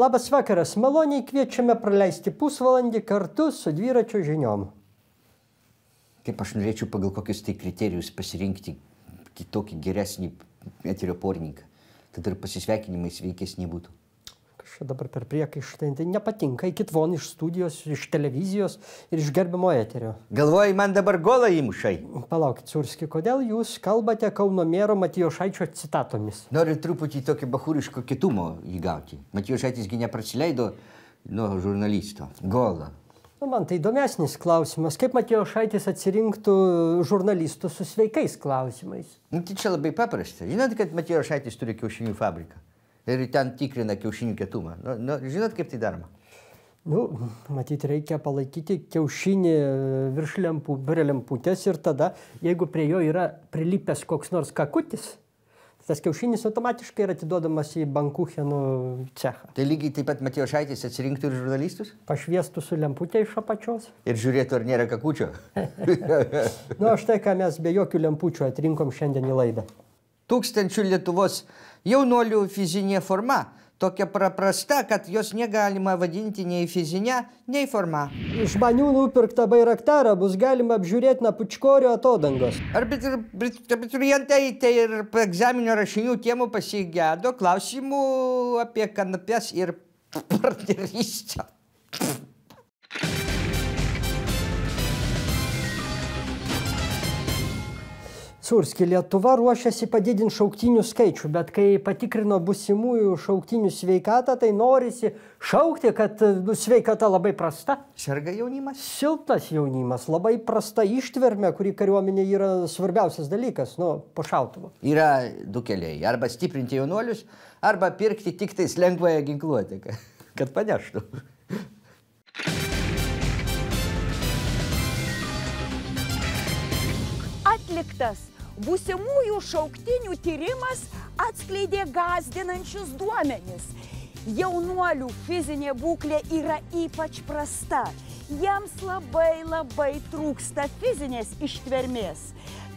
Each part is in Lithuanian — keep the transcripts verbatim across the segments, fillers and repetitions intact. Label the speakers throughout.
Speaker 1: Labas vakaras, maloniai kviečiame praleisti pusvalandį kartu su dviračio žiniom.
Speaker 2: Kaip aš norėčiau pagal kokius tai kriterijus pasirinkti kitokį geresnį eterio porininką. Tada ir pasisveikinimai sveikesni būtų.
Speaker 1: Kažkaip dabar per priekaištą, tai nepatinka, eikit von iš studijos, iš televizijos ir iš gerbiamo eterio.
Speaker 2: Galvoji, man dabar golą įmušai?
Speaker 1: Palaukit, Surski, kodėl jūs kalbate Kauno mero Matijošaičio citatomis?
Speaker 2: Noriu truputį tokio bachūriško kitumo įgauti. Matijošaitis gi neprasileido nuo žurnalisto. Golą.
Speaker 1: Nu, man tai įdomesnis klausimas. Kaip Matijošaitis atsirinktų žurnalistų su sveikais klausimais?
Speaker 2: Nu, tai čia labai paprasta. Žinot, kad Matijošaitis turi kiaušinių fabriką. Ir ten tikrina kiaušinių kietumą. Nu, nu, žinot, kaip tai daroma?
Speaker 1: Nu, matyt, reikia palaikyti kiaušinį virš lempų, prie lemputės ir tada, jeigu prie jo yra prilipęs koks nors kakutis, tas kiaušinis automatiškai yra atiduodamas į bankuchenų cechą.
Speaker 2: Tai lygiai taip pat Matijošaitis atsirinktų ir žurnalistus?
Speaker 1: Pašviestų su lemputė iš apačios.
Speaker 2: Ir žiūrėtų, ar nėra kakučio?
Speaker 1: Nu, štai ką mes be jokių lempučių atrinkom šiandien į laidą.
Speaker 2: Tūkstančių Lietuvos jaunuolių fizinė forma tokia paprasta, kad jos negalima vadinti nei fizinė, nei forma.
Speaker 1: Iš manių nupirktą bairaktarą bus galima apžiūrėti nuo Pučkorio atodangos.
Speaker 2: Abiturientai tai ir egzaminio rašinių temų pasigėdo klausimų apie kanapes ir partnerystę.
Speaker 1: Surski, Lietuva ruošiasi padidinti šauktinių skaičių, bet kai patikrino būsimųjų šauktinių sveikatą, tai norisi šaukti, kad sveikata labai prasta.
Speaker 2: Serga jaunimas?
Speaker 1: Silpnas jaunimas, labai prasta ištvermė, kuri kariuomenė yra svarbiausias dalykas, nu, po šautuvo.
Speaker 2: Yra du keliai. Arba stiprinti jaunuolius, arba pirkti tik tais lengvąją ginkluotę, kad paneštų.
Speaker 3: Atliktas būsimųjų šauktinių tyrimas atskleidė gąsdinančius duomenis. Jaunuolių fizinė būklė yra ypač prasta. Jiems labai labai trūksta fizinės ištvermės.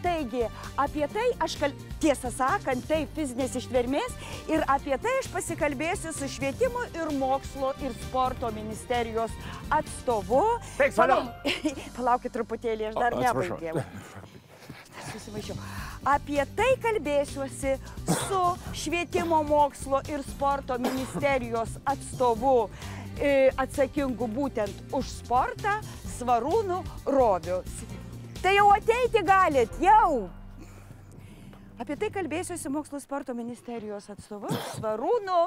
Speaker 3: Taigi, apie tai aš kal... tiesą sakant, tai fizinės ištvermės ir apie tai aš pasikalbėsiu su Švietimo ir mokslo ir sporto ministerijos atstovu.
Speaker 4: Palauk...
Speaker 3: Palaukit truputėlį, aš dar nebaigėjau. Susimaišiau. Apie tai kalbėsiuosi su Švietimo mokslo ir sporto ministerijos atstovu e, atsakingu būtent už sportą Svarūnu Roviu. Tai jau ateiti galit, jau! Apie tai kalbėsiuosi mokslo sporto ministerijos atstovu Svarūnu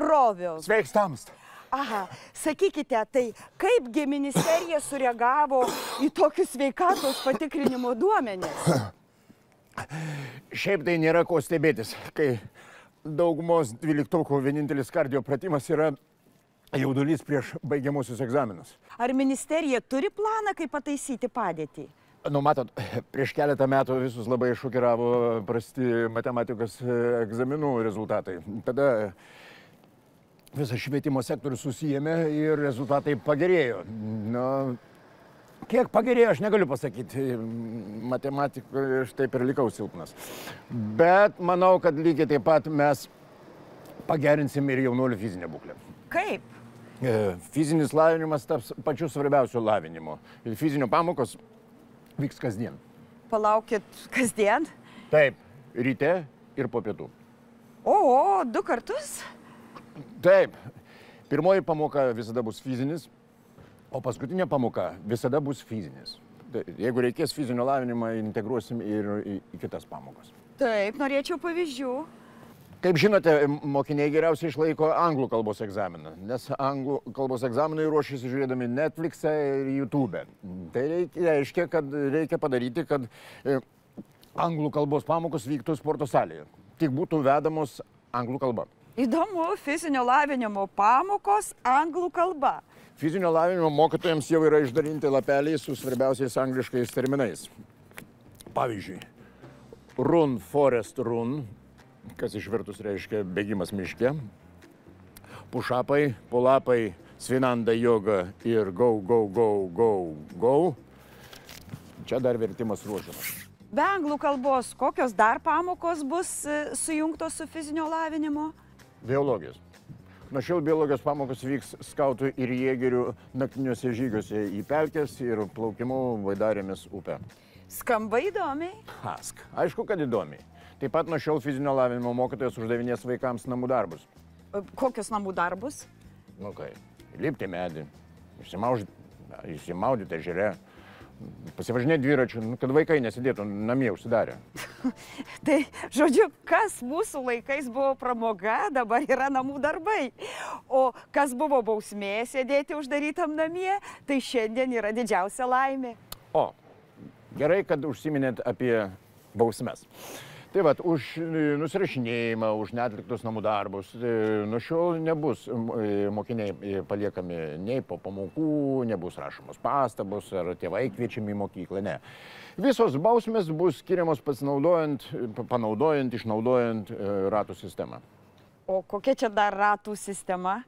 Speaker 3: Roviu.
Speaker 4: Sveiks tamst.
Speaker 3: Aha, sakykite, tai kaipgi ministerija sureagavo į tokius sveikatos patikrinimo duomenis?
Speaker 4: Šiaip tai nėra ko stebėtis, kai daugumos dvyliktokų vienintelis kardio pratimas yra jaudulys prieš baigiamuosius egzaminus.
Speaker 3: Ar ministerija turi planą, kaip pataisyti padėtį?
Speaker 4: Nu, matot, prieš keletą metų visus labai šokiravo prasti matematikos egzaminų rezultatai. Tada visas švietimo sektorius susijėmė ir rezultatai pagerėjo. Nu, kiek pagerėjo, aš negaliu pasakyti. Matematikoje aš taip ir likau silpnas. Bet manau, kad lygiai taip pat mes pagerinsim ir jaunuolių fizinę būklę.
Speaker 3: Kaip?
Speaker 4: Fizinis lavinimas taps pačiu svarbiausiu lavinimu. Ir fizinio pamokos vyks kasdien.
Speaker 3: Palaukit, kasdien?
Speaker 4: Taip, ryte ir po pietų.
Speaker 3: O, o, du kartus?
Speaker 4: Taip, pirmoji pamoka visada bus fizinis, o paskutinė pamoka visada bus fizinis. Jeigu reikės fizinio lavinimą, integruosim ir į, į kitas pamokas.
Speaker 3: Taip, norėčiau pavyzdžių.
Speaker 4: Kaip žinote, mokiniai geriausiai išlaiko anglų kalbos egzaminą, nes anglų kalbos egzaminai ruošiasi žiūrėdami Netflix'e ir YouTube. Tai reiškia, kad reikia padaryti, kad anglų kalbos pamokos vyktų sporto salėje. Tik būtų vedamos anglų kalba.
Speaker 3: Įdomu, fizinio lavinimo pamokos anglų kalba.
Speaker 4: Fizinio lavinimo mokytojams jau yra išdalinti lapeliai su svarbiausiais angliškais terminais. Pavyzdžiui, run, forest, run, kas išvertus reiškia bėgimas miške, pušapai, pulapai, svinanda joga ir go, go, go, go, go. Čia dar vertimas ruošiamas.
Speaker 3: Be anglų kalbos, kokios dar pamokos bus sujungtos su fizinio lavinimo?
Speaker 4: Biologijos. Nuo šiol biologijos pamokos vyks skautų ir jėgerių naktiniuose žygiuose į pelkes ir plaukimu Vaidarėmis upę.
Speaker 3: Skamba įdomiai.
Speaker 4: Ask. Aišku, kad įdomiai. Taip pat nuo šiol fizinio lavinimo mokytojas uždavinės vaikams namų darbus.
Speaker 3: Kokius namų darbus?
Speaker 4: Nu kai, lipti medį, išsimaudyti ežere, pasivažinėti dviračiu, nu, kad vaikai nesidėtų namie užsidarę.
Speaker 3: Tai, žodžiu, kas mūsų laikais buvo pramoga, dabar yra namų darbai. O kas buvo bausmė sėdėti uždarytam namie, tai šiandien yra didžiausia laimė.
Speaker 4: O, gerai, kad užsiminėt apie bausmes. Tai vat, už nusirašinėjimą, už neatliktus namų darbus, nuo šiol nebus mokiniai paliekami nei po pamokų, nebus rašomos pastabos ar tėvai kviečiami į mokyklą, ne. Visos bausmės bus skiriamos pasinaudojant, panaudojant, išnaudojant ratų sistemą.
Speaker 3: O kokia čia dar ratų sistema?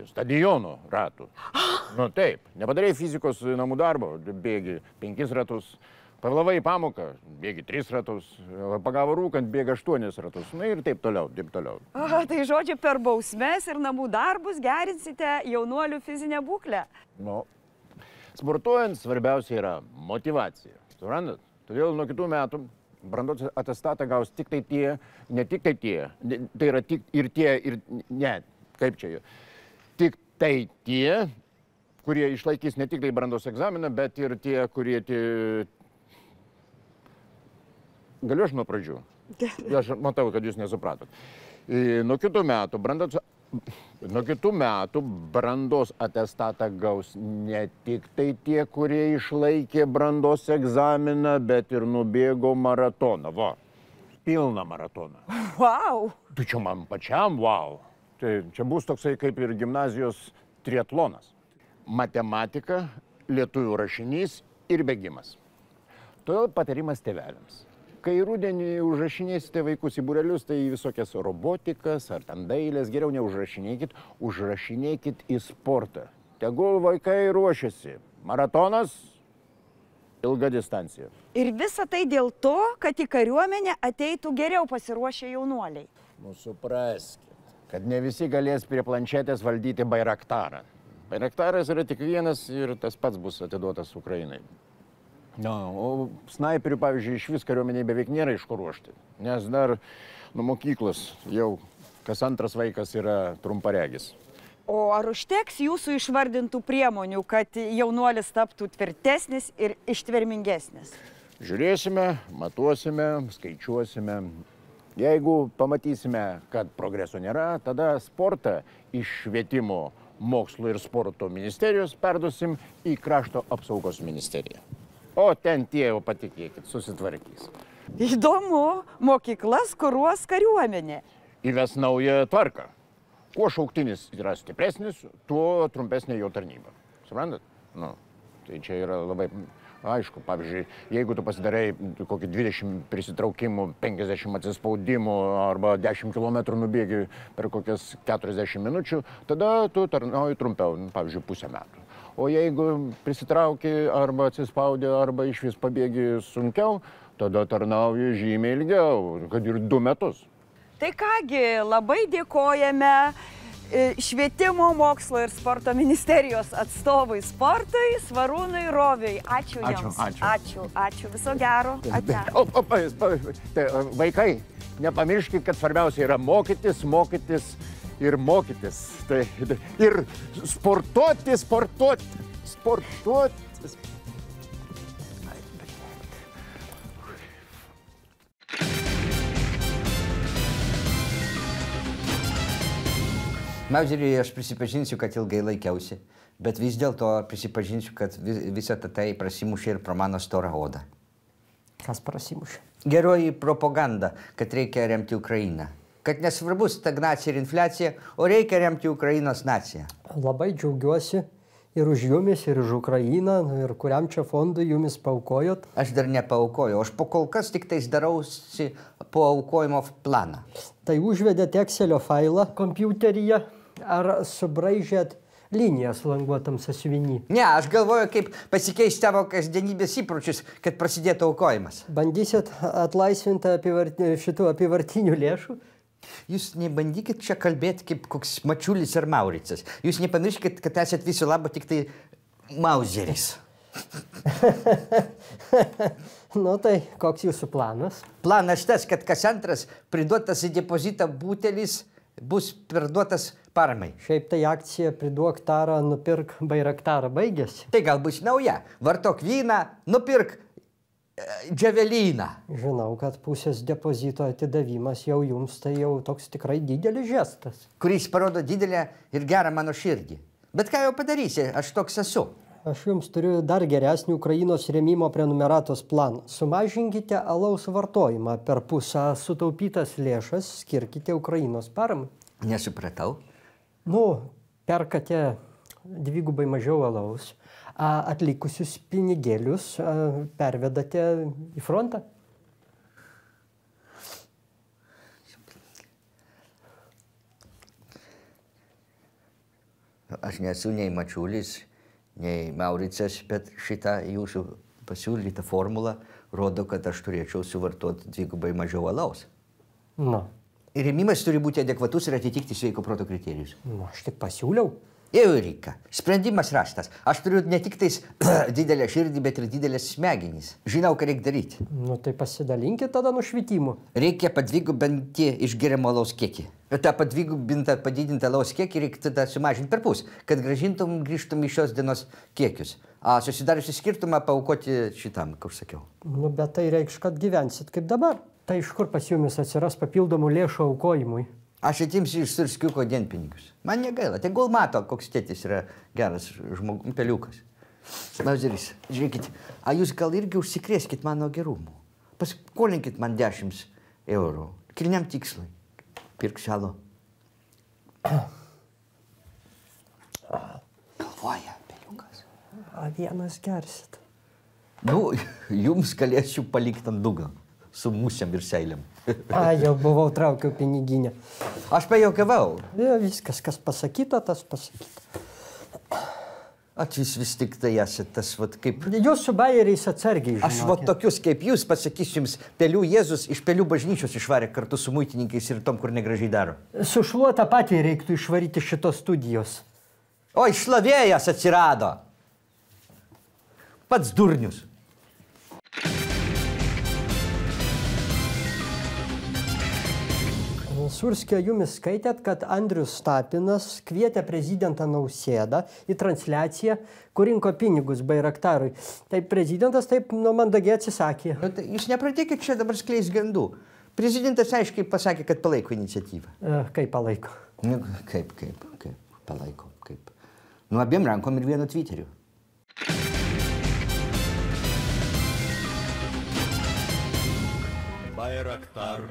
Speaker 4: Stadiono ratų. Nu taip, nepadarei fizikos namų darbo, bėgi penkis ratus. Pavėlavai į pamoką, bėgi tris ratus, pagavo rūkant, bėga aštuonis ratus, na ir taip toliau, taip toliau.
Speaker 3: Aha, tai žodžiu, per bausmes ir namų darbus gerinsite jaunuolių fizinę būklę?
Speaker 4: Nu, sportuojant svarbiausia yra motyvacija, suprantat? Todėl nuo kitų metų brandos atestatą gaus tik tai tie, ne tik tai tie, tai yra tik ir tie, ir ne, kaip čia jau, tik tai tie, kurie išlaikys ne tik tai brandos egzaminą, bet ir tie, kurie tie, Galiu aš nuo pradžių? Aš matau, kad jūs nesupratot. Nuo kitų metų brandos, nuo kitų metų brandos atestatą gaus ne tik tai tie, kurie išlaikė brandos egzaminą, bet ir nubėgo maratoną. Va, pilną maratoną.
Speaker 3: Wow!
Speaker 4: Tu čia man pačiam, wow. Tai čia bus toksai kaip ir gimnazijos triatlonas. Matematika, lietuvių rašinys ir bėgimas. Todėl patarimas tėveliams. Kai rudenį užrašinėsite vaikus į būrelius, tai visokias robotikas ar ten dailės, geriau neužrašinėkit, užrašinėkit į sportą. Tegul vaikai ruošiasi. Maratonas, ilga distancija.
Speaker 3: Ir visa tai dėl to, kad į kariuomenę ateitų geriau pasiruošę jaunuoliai.
Speaker 4: Nu, supraskit, kad ne visi galės prie planšetės valdyti Bairaktarą. Bairaktaras yra tik vienas ir tas pats bus atiduotas Ukrainai. No, o snaiperių, pavyzdžiui, iš vis kariuomeniai beveik nėra iš ko ruošti, nes dar nuo mokyklos jau kas antras vaikas yra trumparegis.
Speaker 3: O ar užteks jūsų išvardintų priemonių, kad jaunuolis taptų tvirtesnis ir ištvermingesnis?
Speaker 4: Žiūrėsime, matuosime, skaičiuosime. Jeigu pamatysime, kad progreso nėra, tada sportą iš švietimo, mokslo ir sporto ministerijos perduosim į krašto apsaugos ministeriją. O ten tie jau patikėkit, susitvarkys.
Speaker 3: Įdomu, mokyklas kuruos kariuomenė.
Speaker 4: Įves naują tvarką. Kuo šauktinis yra stipresnis, tuo trumpesnė jo tarnyba. Suprantat? Nu, tai čia yra labai aišku. Pavyzdžiui, jeigu tu pasidarai kokį dvidešimt prisitraukimų, penkiasdešimt atsispaudimų arba dešimt kilometrų nubėgi per kokias keturiasdešimt minučių, tada tu tarnauji trumpiau, pavyzdžiui, pusę metų. O jeigu prisitrauki arba atsispaudi, arba iš vis pabėgi sunkiau, tada tarnauji žymiai ilgiau, kad ir du metus.
Speaker 3: Tai kągi, labai dėkojame švietimo, mokslo ir sporto ministerijos atstovui sportui, Svarūnui Roviui. Ačiū jums.
Speaker 4: Ačiū, ačiū.
Speaker 3: Ačiū, ačiū. Viso gero. Ate.
Speaker 4: O, o, tai, vaikai, nepamirškit, kad svarbiausia yra mokytis, mokytis ir mokytis. Tai, ir sportuoti, sportuoti, sportuoti.
Speaker 2: Mauzeriui aš prisipažinsiu, kad ilgai laikiausi, bet vis dėlto prisipažinsiu, kad vis, visą tai prasimušė ir pro mano storą odą.
Speaker 1: Kas prasimušė?
Speaker 2: Geroji propaganda, kad reikia remti Ukrainą. Kad nesvarbu stagnacija ir infliacija, o reikia remti Ukrainos naciją.
Speaker 1: Labai džiaugiuosi ir už jumis, ir už Ukrainą, ir kuriam čia fondui jumis paaukojot.
Speaker 2: Aš dar nepaaukojau, aš po kol kas tik tais darausi paaukojimo planą.
Speaker 1: Tai užvedėte Excelio failą kompiuteryje, ar subraižėt linijas languotam sąsiuviny?
Speaker 2: Ne, aš galvoju, kaip pasikeisti tavo kasdienybės įpročius, kad prasidėtų aukojimas.
Speaker 1: Bandysit atlaisvinti apivart... šitų apivartinių lėšų?
Speaker 2: Jūs nebandykit čia kalbėti kaip koks Mačiulis ar Mauricas. Jūs nepamirškit, kad esat viso labo tik tai Mauzeris.
Speaker 1: Nu tai, koks jūsų planas?
Speaker 2: Planas tas, kad kas antras priduotas į depozitą butelis bus perduotas paramai.
Speaker 1: Šiaip tai akcija priduok tarą, nupirk Bairaktarą baigėsi.
Speaker 2: Tai gal bus nauja. Vartok vyną, nupirk dževelyną.
Speaker 1: Žinau, kad pusės depozito atidavimas jau jums tai jau toks tikrai didelis žestas.
Speaker 2: Kuris parodo didelę ir gerą mano širdį. Bet ką jau padarysi, aš toks esu.
Speaker 1: Aš jums turiu dar geresnį Ukrainos rėmimo prenumeratos planą. Sumažinkite alaus vartojimą per pusę, sutaupytas lėšas skirkite Ukrainos paramai.
Speaker 2: Nesupratau.
Speaker 1: Nu, perkate dvigubai mažiau alaus, atlikusius pinigėlius pervedate į frontą.
Speaker 2: Aš nesu nei Mačiulis, nei Mauricas, bet šitą jūsų pasiūlytą formulą rodo, kad aš turėčiau suvartoti dvigubai mažiau alaus.
Speaker 1: Nu.
Speaker 2: Ir rėmimas turi būti adekvatus ir atitikti sveiko proto kriterijus.
Speaker 1: Nu, aš tik pasiūliau.
Speaker 2: Eureka. Sprendimas rastas. Aš turiu ne tik tais didelę širdį, bet ir didelės smegenys. Žinau, ką reikia daryti.
Speaker 1: Nu, tai pasidalinkit tada nušvitimu.
Speaker 2: Reikia padvigubinti išgeriamo alaus kiekį. tą padvigubintą, padidintą alaus kiekį reikia tada sumažinti per pus, kad grąžintum, grįžtum į šios dienos kiekius. A susidariusi skirtumą paaukoti šitam, kaip sakiau.
Speaker 1: Nu, bet tai reikš, kad gyvensit kaip dabar. Tai iš kur pas jumis atsiras papildomų lėšų aukojimui?
Speaker 2: Aš atimsiu iš Surskiuko dienpinigius. Man negaila, tegul mato, koks tėtis yra geras žmogus, peliukas. Mauzeris, žiūrėkit, a jūs gal irgi užsikrėskit mano gerumu. Paskolinkit man dešimt eurų. Kilniam tikslui. Pirk šalo. Galvoja, peliukas.
Speaker 1: A vienas gersit.
Speaker 2: Nu, jums galėsiu palikti ant dugno. Su musėm ir seilėm.
Speaker 1: A, jau buvau traukiau piniginę.
Speaker 2: Aš pajuokavau.
Speaker 1: Ja, viskas, kas pasakyta, tas pasakyta.
Speaker 2: A, jūs vis tik tai esate tas, vat, kaip...
Speaker 1: Jūs su bajeriais atsargiai, žinokit.
Speaker 2: Aš vat tokius kaip jūs pasakysiu jums, pelių Jėzus iš pelių bažnyčios išvarė kartu su muitininkais ir tom, kur negražiai daro.
Speaker 1: Su šluota patį reiktų išvaryti šitos studijos.
Speaker 2: O, išlavėjas atsirado. Pats durnius.
Speaker 1: Surskio, jumis skaitėt, kad Andrius Tapinas kvietė prezidentą Nausėdą į transliaciją, kur rinko pinigus Bairaktarui. Tai prezidentas taip nu, mandagiai atsisakė.
Speaker 2: Nu, tai jūs nepradėkit čia dabar skleis gandų. Prezidentas aiškiai pasakė, kad palaiko iniciatyvą.
Speaker 1: E, kaip palaiko?
Speaker 2: Nu, kaip, kaip, kaip, palaiko, kaip. Nu, abiem rankom ir vienu Twitteriu.
Speaker 5: Bairaktar.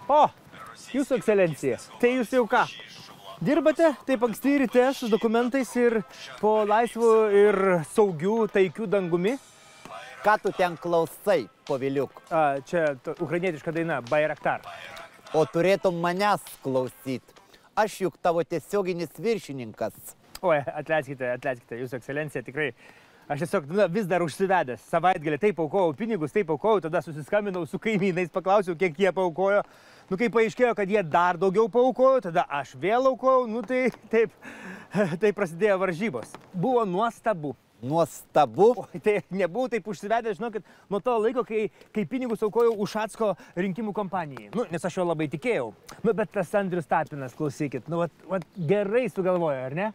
Speaker 6: O, jūsų ekscelencija, tai jūs jau ką? Dirbate taip anksti ryte su dokumentais ir po laisvų ir saugių, taikių dangumi?
Speaker 7: Ką tu ten klausai, poviliuk?
Speaker 6: A, čia ukrainietiška daina, Bairaktar.
Speaker 7: O turėtum manęs klausyt. Aš juk tavo tiesioginis viršininkas.
Speaker 6: Oi, atleiskite, atleiskite, jūsų ekscelencija, tikrai. Aš tiesiog na, vis dar užsivedęs. Savaitgalį taip aukojau pinigus, taip aukojau, tada susiskambinau su kaimynais, paklausiau, kiek jie paaukojo. Nu, kai paaiškėjo, kad jie dar daugiau paaukojo, tada aš vėl aukojau, nu tai taip, taip prasidėjo varžybos. Buvo nuostabu.
Speaker 7: Nuostabu?
Speaker 6: O, tai nebuvau taip užsivedęs, žinokit, nuo to laiko, kai, kai pinigus aukojau Ušacko rinkimų kompanijai. Nu, nes aš jo labai tikėjau. Nu, bet tas Andrius Tapinas, klausykit, nu, vat, vat gerai sugalvojo, ar ne?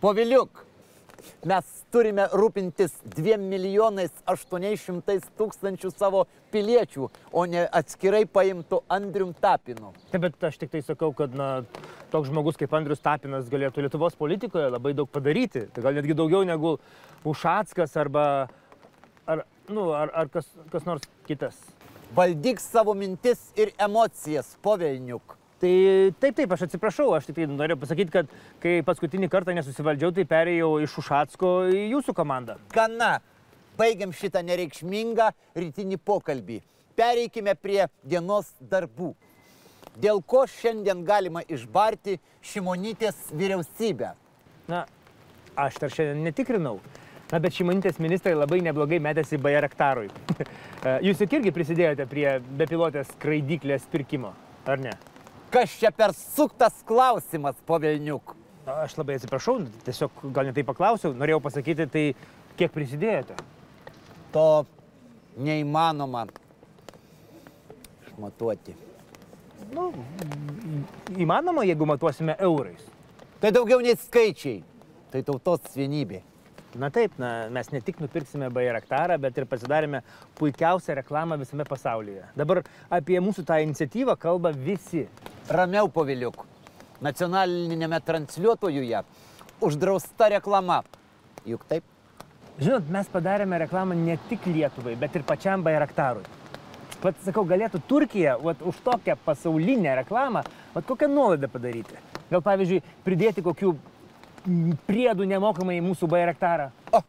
Speaker 7: Poviliuk, mes turime rūpintis dviem milijonais aštuoniais šimtais tūkstančių savo piliečių, o ne atskirai paimtų Andrium Tapinu.
Speaker 6: Taip, bet aš tik tai sakau, kad na, toks žmogus kaip Andrius Tapinas galėtų Lietuvos politikoje labai daug padaryti. Tai gal netgi daugiau negu Ušackas arba ar, nu, ar, ar kas, kas nors kitas.
Speaker 7: Valdyk savo mintis ir emocijas, povelniuk.
Speaker 6: Tai taip, taip, aš atsiprašau, aš tik tai norėjau pasakyti, kad kai paskutinį kartą nesusivaldžiau, tai perėjau iš Ušacko į jūsų komandą.
Speaker 7: Gana, baigiam šitą nereikšmingą rytinį pokalbį. Pereikime prie dienos darbų. Dėl ko šiandien galima išbarti Šimonytės vyriausybę?
Speaker 6: Na, aš dar šiandien netikrinau, Na, bet Šimonytės ministrai labai neblogai metėsi Bayraktarui. Jūs juk irgi prisidėjote prie bepilotės skraidyklės pirkimo, ar ne?
Speaker 7: Kas čia per suktas klausimas, po velniuk?
Speaker 6: Aš labai atsiprašau, tiesiog gal netai paklausiau, norėjau pasakyti, tai kiek prisidėjote?
Speaker 7: To neįmanoma išmatuoti.
Speaker 6: Nu, įmanoma, jeigu matuosime eurais.
Speaker 7: Tai daugiau nei skaičiai, tai tautos vienybė.
Speaker 6: Na taip, na, mes ne tik nupirksime Bayraktarą, bet ir pasidarėme puikiausią reklamą visame pasaulyje. Dabar apie mūsų tą iniciatyvą kalba visi.
Speaker 7: Ramiau, poviliuk. Nacionalinėme transliuotojuje uždrausta reklama. Juk taip?
Speaker 6: Žinot, mes padarėme reklamą ne tik Lietuvai, bet ir pačiam Bayraktarui. Vat, sakau, galėtų Turkija vat, už tokią pasaulinę reklamą vat, kokią nuolaidą padaryti. Gal, pavyzdžiui, pridėti kokių priedų nemokamai į mūsų Bayraktarą.
Speaker 7: O,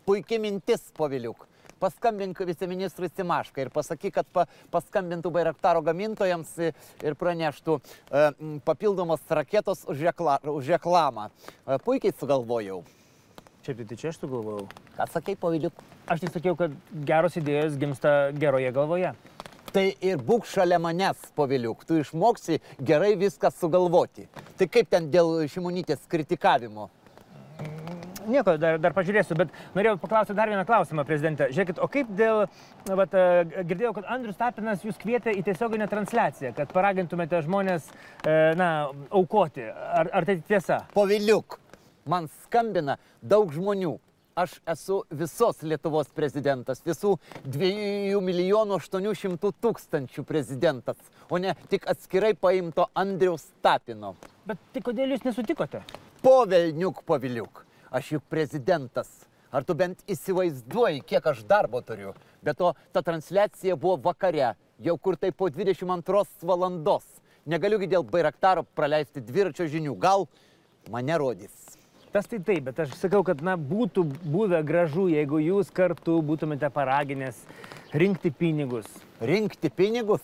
Speaker 7: puikiai mintis, poviliuk. Paskambink viceministrui Simaškai ir pasakyk, kad pa, paskambintų Bayraktaro gamintojams ir praneštų e, papildomos raketos už, rekla, už reklamą. E, puikiai sugalvojau.
Speaker 6: Čia tai čia aš sugalvojau.
Speaker 7: Ką sakai, poviliuk?
Speaker 6: Aš tik sakiau, kad geros idėjos gimsta geroje galvoje.
Speaker 7: Tai ir būk šalia manęs, poviliuk. Tu išmoksi gerai viską sugalvoti. Tai kaip ten dėl Šimonytės kritikavimo?
Speaker 6: Nieko, dar, dar pažiūrėsiu, bet norėjau paklausti dar vieną klausimą, prezidente. Žiūrėkit, o kaip dėl, na, vat, girdėjau, kad Andrius Tapinas jūs kvietė į tiesioginę transliaciją, kad paragintumėte žmonės, na, aukoti. Ar, ar tai tiesa?
Speaker 7: Poviliuk, man skambina daug žmonių. Aš esu visos Lietuvos prezidentas, visų dviejų milijonų aštuonių šimtų tūkstančių prezidentas, o ne tik atskirai paimto Andriaus Tapino.
Speaker 6: Bet tai kodėl jūs nesutikote?
Speaker 7: Povelniuk, poviliuk. Aš juk prezidentas. Ar tu bent įsivaizduoji, kiek aš darbo turiu? Be to, ta transliacija buvo vakare, jau kur tai po dvidešimt antros valandos. Negaliugi dėl Bayraktaro praleisti dviračio žinių. Gal mane rodys.
Speaker 6: Tas tai taip, bet aš sakau, kad na, būtų buvę gražu, jeigu jūs kartu būtumėte paraginęs rinkti pinigus.
Speaker 7: Rinkti pinigus?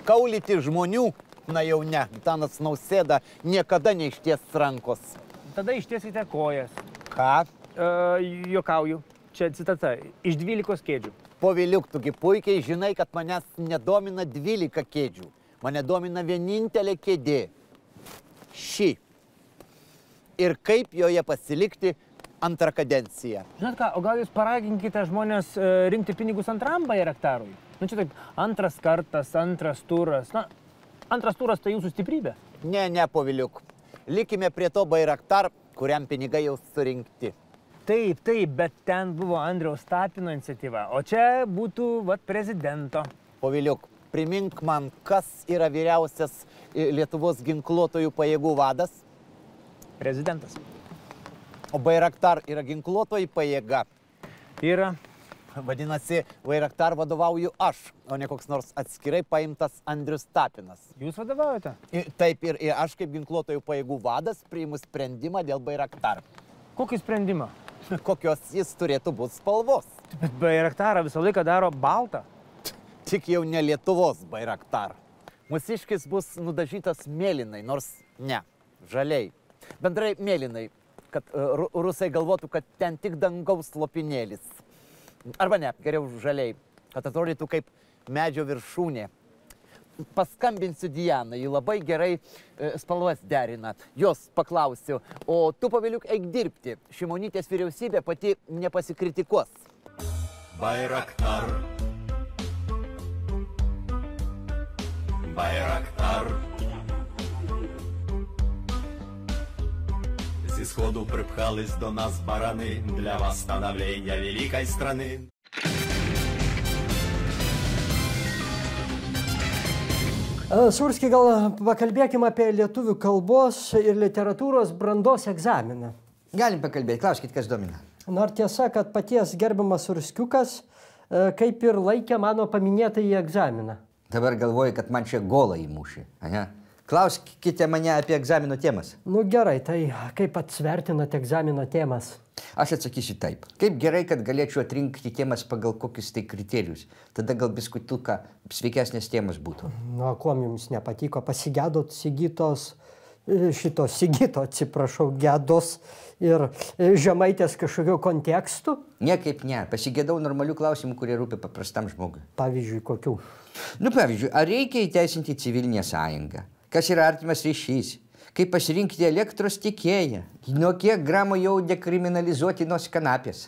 Speaker 7: Kaulyti žmonių? Na jau ne, Gitanas Nausėda niekada neišties rankos.
Speaker 6: Tada ištiesite kojas.
Speaker 7: Ką?
Speaker 6: E, juokauju. Čia citata. Iš dvylikos kėdžių.
Speaker 7: Poviliuk, tugi puikiai žinai, kad manęs nedomina dvylika kėdžių. Mane domina vienintelė kėdė. Ši. Ir kaip joje pasilikti antrą kadenciją.
Speaker 6: Žinot ką, o gal jūs paraginkite žmonės e, rinkti pinigus antram Bayraktarui? Nu čia taip, antras kartas, antras turas. Na, antras turas tai jūsų stiprybė.
Speaker 7: Ne, ne, poviliuk. Likime prie to Bayraktar, kuriam pinigai jau surinkti.
Speaker 6: Taip, taip, bet ten buvo Andriaus Tapino iniciatyva, o čia būtų, vat, prezidento.
Speaker 7: Poviliuk, primink man, kas yra vyriausias Lietuvos ginkluotojų pajėgų vadas?
Speaker 6: Prezidentas.
Speaker 7: O Bayraktar yra ginkluotoji pajėga.
Speaker 6: Yra.
Speaker 7: Vadinasi, Bayraktar vadovauju aš, o ne koks nors atskirai paimtas Andrius Tapinas.
Speaker 6: Jūs vadovaujate?
Speaker 7: Ir, taip, ir, ir aš kaip ginkluotojų pajėgų vadas priimu sprendimą dėl Bayraktar.
Speaker 6: Kokį sprendimą?
Speaker 7: Kokios jis turėtų būti spalvos.
Speaker 6: Bet Bayraktarą visą laiką daro baltą.
Speaker 7: Tik jau ne Lietuvos Bayraktar. Mūsiškis bus nudažytas mėlynai, nors ne, žaliai. Bendrai mėlynai, kad uh, rusai galvotų, kad ten tik dangaus lopinėlis. Arba ne, geriau žaliai, kad atrodytų kaip medžio viršūnė. Paskambinsiu Dianai, ji labai gerai uh, spalvas derina. Jos paklausiu, o tu, poviliuk, eik dirbti. Šimonytės vyriausybė pati nepasikritikuos.
Speaker 5: Bayraktar. Bayraktar. С исходу припхались до нас бараны для восстановления великой страны.
Speaker 1: Surski, gal pakalbėkime apie lietuvių kalbos ir literatūros brandos egzaminą.
Speaker 2: Galim pakalbėti, klauskit, kas domina.
Speaker 1: Nors tiesa, kad paties gerbiamas Surskiukas kaip ir laikė mano paminėtąjį egzaminą.
Speaker 2: Dabar galvoju, kad man čia golą įmušė. Aha. Klauskite mane apie egzamino temas.
Speaker 1: Nu gerai, tai kaip atsvertinate egzamino temas?
Speaker 2: Aš atsakysiu taip. Kaip gerai, kad galėčiau atrinkti temas pagal kokius tai kriterijus. Tada gal biskutuką sveikesnės temas būtų.
Speaker 1: Nu, kuom jums nepatiko? Pasigėdot Sigitos šito Sigito, atsiprašau, Gedos ir Žemaitės kažkokio kontekstų?
Speaker 2: Niekaip ne. Pasigėdau normalių klausimų, kurie rūpi paprastam žmogui.
Speaker 1: Pavyzdžiui, kokių?
Speaker 2: Nu, pavyzdžiui, ar reikia įteisinti civilinę sąjungą? Kas yra artimas ryšys? Kaip pasirinkti elektros tiekėją? Nuo kiek gramų jau dekriminalizuoti nuo kanapės?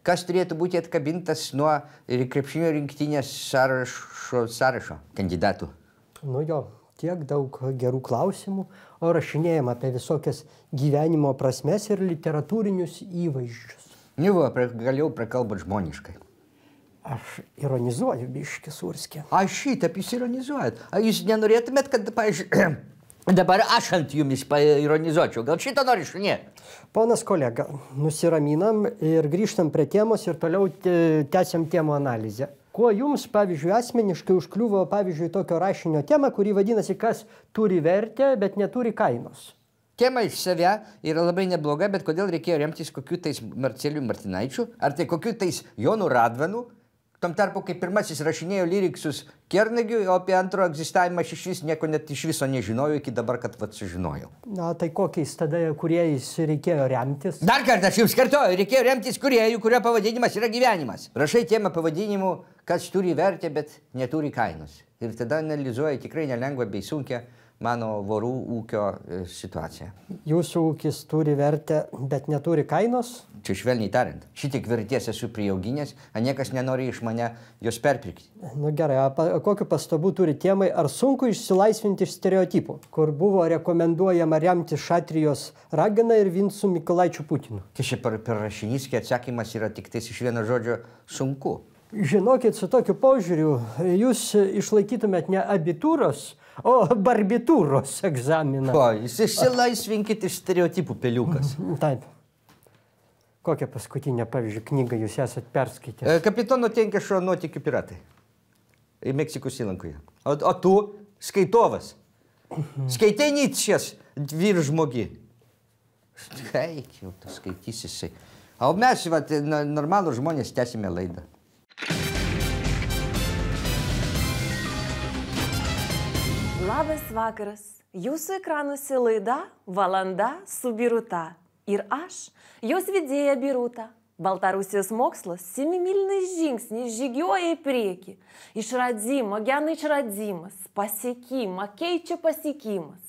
Speaker 2: Kas turėtų būti atkabintas nuo krepšinio rinktinės sąrašo, sąrašo kandidatų?
Speaker 1: Nu jo, tiek daug gerų klausimų, o rašinėjama apie visokias gyvenimo prasmes ir literatūrinius įvaizdžius.
Speaker 2: Nu, va, galėjau prakalbant žmoniškai.
Speaker 1: Aš ironizuoju, biški Surskė.
Speaker 2: A, šitap jūs ironizuojat. A, jūs nenorėtumėt, kad, pavyzdžiui, dabar aš ant jumis paironizuočiau. Gal šitą nori šunė?
Speaker 1: Ponas kolega, nusiraminam ir grįžtam prie temos ir toliau tęsiam temų analizę. Kuo jums, pavyzdžiui, asmeniškai užkliuvo, pavyzdžiui, tokio rašinio tema, kuri vadinasi, kas turi vertę, bet neturi kainos?
Speaker 2: Tema iš savę yra labai nebloga, bet kodėl reikėjo remtis kokiu tais Marceliu Martinaičiu, ar tai kokiu tais Jonu Radvanu, tam tarpu, kai pirmasis rašinėjo lyriksus Kernagiui, o apie antro egzistavimą aš iš vis nieko net iš viso nežinojau, iki dabar, kad vat sužinojau.
Speaker 1: Na, tai kokiais tada kuriejais reikėjo remtis?
Speaker 2: Dar kartą aš jums kartoju, reikėjo remtis kuriejų, kurio pavadinimas yra gyvenimas. Rašai temą pavadinimu, kas turi vertę, bet neturi kainos. Ir tada analizuoja tikrai nelengvą bei sunkę mano vorų ūkio situaciją.
Speaker 1: Jūsų ūkis turi vertę, bet neturi kainos?
Speaker 2: Čia švelniai tariant. Šitiek vertės esu prijauginęs, a niekas nenori iš mane jos perpirkti.
Speaker 1: Nu gerai, a pa, kokiu pastabu turi temai, ar sunku išsilaisvinti iš stereotipų, kur buvo rekomenduojama remti Šatrijos Raganą ir Vincu Mykolaičiu Putinu?
Speaker 2: Tai čia per, per rašinys, kai atsakymas yra tik tais iš vieno žodžio sunku.
Speaker 1: Žinokit, su tokiu požiūriu jūs išlaikytumėt ne abitūros, o barbitūros egzaminą.
Speaker 2: O, jūs išsilaisvinkit iš stereotipų, peliukas.
Speaker 1: Taip. Kokią paskutinę, pavyzdžiui, knygą jūs esat perskaitęs?
Speaker 2: Kapitono Tenkešo Nuotykių piratai. Meksikos įlankoje. O, o tu skaitovas. Skaitai Nyčės vyržmogi. Eik, jau tu skaitysi jisai. O mes, vat, normalų žmonės, tęsime laidą.
Speaker 8: Labas vakaras. Jūsų ekranuose laida Valanda su Biruta. Ir aš, jos vedėja Biruta. Baltarusijos mokslas semimiliniais žingsniais žygiuoja į priekį. Išradimo, geno išradimas, pasiekimą, keičia pasiekimas.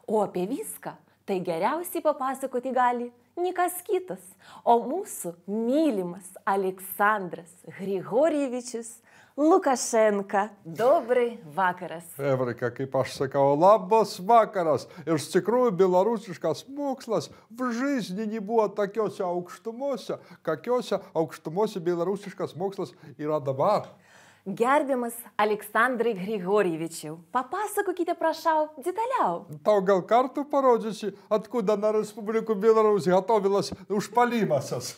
Speaker 8: O apie viską tai geriausiai papasakoti gali nikas kitas, o mūsų mylimas Aleksandras Grigorjevičius Lukašenka. Dobrai vakaras.
Speaker 9: Evrika, kaip aš sakau, labas vakaras. Iš tikrųjų, belarusiškas mokslas v жизни nebuvo tokiuose aukštumuose, kokiuose aukštumuose belarusiškas mokslas yra dabar.
Speaker 8: Gerbiamas Aleksandrai Grigorjevičiau, papasakokite, prašau, detaliau.
Speaker 9: Tau gal kartu parodysi, откуда на Республику Беларусь готовилась užpalimasas.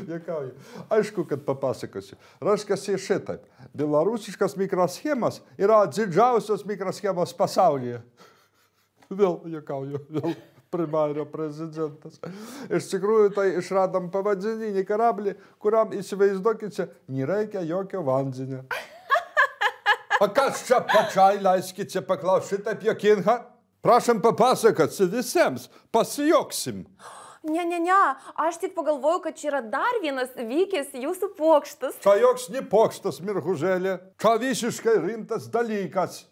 Speaker 9: Jekauju. Aišku, kad papasakosiu. Raškasi šitaip. Belarusiškas mikroschemas yra didžiausios mikroschemos pasaulyje. Vėl, jekauju, vėl primario prezidentas. Iš tikrųjų, tai išradom pavadinį karablį, kuriam, įsivaizduokite, nereikia jokio vandenio. A kas čia pačiai, leiskite paklausti šitaip jokinga? Prašom papasakoti visiems, pasijoksim.
Speaker 8: Ne, ne, ne, aš tik pagalvojau, kad čia yra dar vienas vykęs jūsų pokštas.
Speaker 9: Čia joks ne pokštas, mirgužėlė. Čia visiškai rimtas dalykas.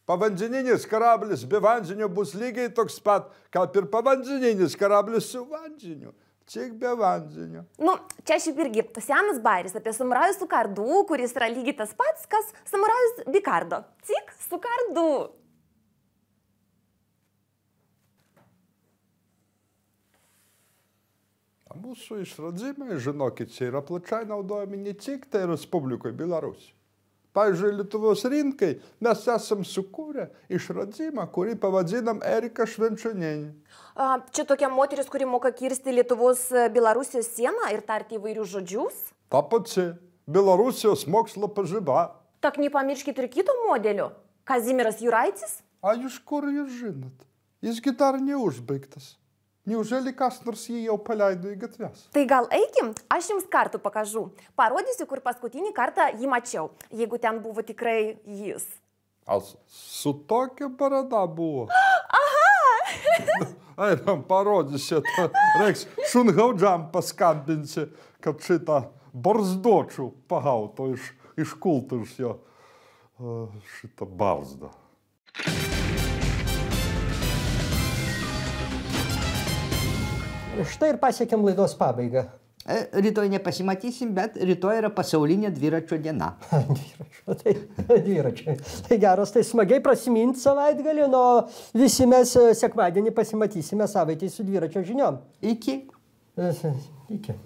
Speaker 9: Pavandeninis karablis be vandenio bus lygiai toks pat, kaip ir pavandeninis karablis su vandeniu. Tik be vandenio.
Speaker 8: Nu, čia šiaip irgi senas bairis apie samurajų su kardu, kuris yra lygiai tas pats, kas samurajus be kardo. Tik su kardu.
Speaker 9: Mūsų išradimai, žinokit, čia yra plačiai naudojami ne tik tai Respublikoje Belarusija. Pavyzdžiui, Lietuvos rinkai mes esam sukūrę išradimą, kurį pavadinam Erika Švenčionienė.
Speaker 8: Čia tokia moteris, kuri moka kirsti Lietuvos Belarusijos sieną ir tarti įvairius žodžius?
Speaker 9: Ta pati Belarusijos mokslo pažiba.
Speaker 8: Tak nepamirškit ir kito modelio. Kazimieras Juraitis?
Speaker 9: A jūs kur jūs žinot? Jisgi dar neužbaigtas. Неужели kas nors jį jau paleido į gatves?
Speaker 8: Tai gal eikim, aš jums kartu pakažu. Parodysiu, kur paskutinį kartą jį mačiau, jeigu ten buvo tikrai jis.
Speaker 9: Al su tokia barada buvo?
Speaker 8: Aha!
Speaker 9: Einam parodysi, reiks šungaudžiam paskambinsi, kad šitą barzdočių pagauto iš, iš kultūros jo šitą barzdą.
Speaker 1: Štai ir pasiekėm laidos pabaigą.
Speaker 2: Rytoj nepasimatysim, bet rytoj yra pasaulinė dviračio diena.
Speaker 1: Dviračio, tai dviračio. Tai geras, tai smagiai prasiminti savaitgalį, o visi mes sekmadienį pasimatysime savaitėj su dviračio žiniom.
Speaker 2: Iki.
Speaker 1: Iki.